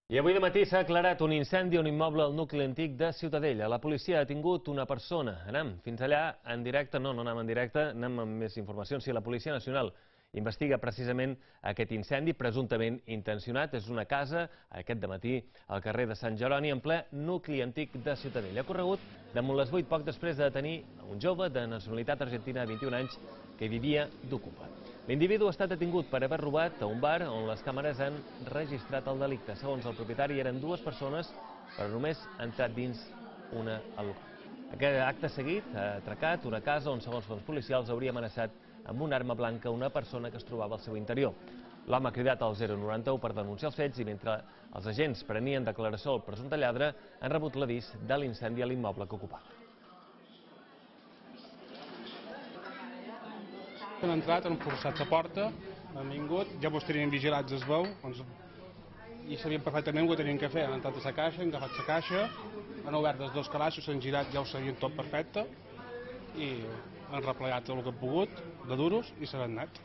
I avui de matí s'ha aclarat un incendi a un immoble al nucli antic de Ciutadella. La policia ha detingut una persona. Anem fins allà en directe. No anem en directe, anem amb més informacions. Sí, la Policia Nacional investiga precisament aquest incendi, presumptament intencionat. És una casa, aquest dematí, al carrer de Sant Jeroni, en ple nucli antic de Ciutadella. Ha corregut damunt les 8, poc després de detenir un jove de nacionalitat argentina de 21 anys que vivia d'ocupa. L'individu ha estat detingut per haver robat a un bar on les càmeres han registrat el delicte. Segons el propietari, eren dues persones, però només ha entrat dins una al local. Aquest acte seguit ha atracat una casa on, segons fons policials, hauria amenaçat amb una arma blanca una persona que es trobava al seu interior. L'home ha cridat al 091 per denunciar els fets i mentre els agents prenien declaració al presumpte lladre han rebut l'avís de l'incendi a l'immoble que ocupava. Han entrat, han forçat la porta, han vingut, ja mos tenien vigilats es veu, i sabien perfectament què tenien que fer. Han entrat a la caixa, han agafat la caixa, han obert els dos calaixos, s'han girat, ja ho sabien tot perfecte, i han replegat tot el que han pogut, de duros, i se n'han anat.